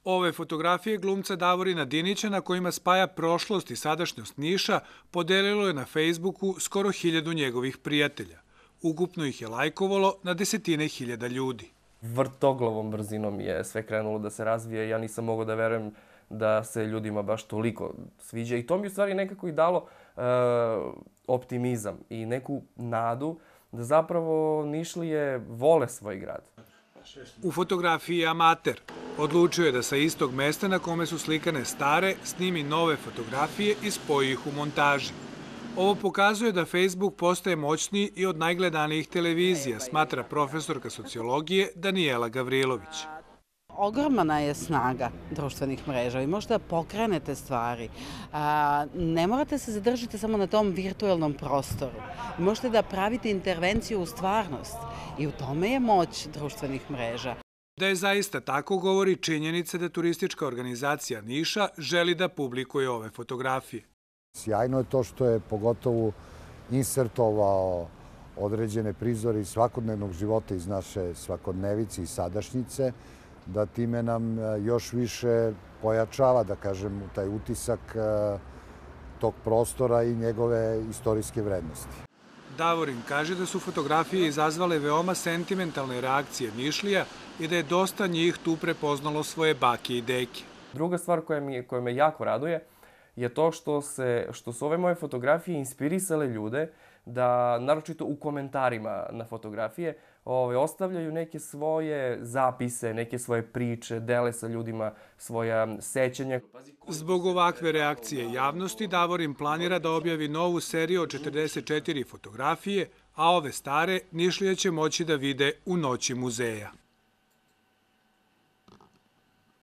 Ove fotografije glumca Davorina Dinića na kojima spaja prošlost i sadašnjost Niša podelilo je na Facebooku skoro 1000 njegovih prijatelja. Ukupno ih je lajkovalo na desetine hiljada ljudi. Vrtoglavom brzinom je sve krenulo da se razvije. Ja nisam mogao da verujem da se ljudima baš toliko sviđa. I to mi u stvari nekako i dalo optimizam i neku nadu da zapravo Nišlije vole svoj grad. U fotografiji je amater. Odlučio je da sa istog mesta na kome su slikane stare snimi nove fotografije i spoji ih u montaži. Ovo pokazuje da Facebook postaje moćniji i od najgledanijih televizija, smatra profesorka sociologije Danijela Gavrilović. Ogromna je snaga društvenih mreža. Vi možete da pokrenete stvari. Ne morate se zadržati samo na tom virtualnom prostoru. Možete da pravite intervenciju u stvarnost. I u tome je moć društvenih mreža. Da je zaista tako govori činjenica da turistička organizacija Niša želi da publikuje ove fotografije. Sjajno je to što je pogotovo insertovao određene prizore iz svakodnevnog života iz naše svakodnevice i sadašnjice, da time nam još više pojačava, da kažem, taj utisak tog prostora i njegove istorijske vrednosti. Davorin kaže da su fotografije izazvale veoma sentimentalne reakcije Nišlija i da je dosta njih tu prepoznalo svoje bake i deke. Druga stvar koja me jako raduje je to što su ove moje fotografije inspirisale ljude da, naročito u komentarima na fotografije, ostavljaju neke svoje zapise, neke svoje priče, dele sa ljudima svoja sećanja. Zbog ovakve reakcije javnosti, Davorin planira da objavi novu seriju od 44 fotografije, a ove stare Nišlije će moći da vide u noći muzeja.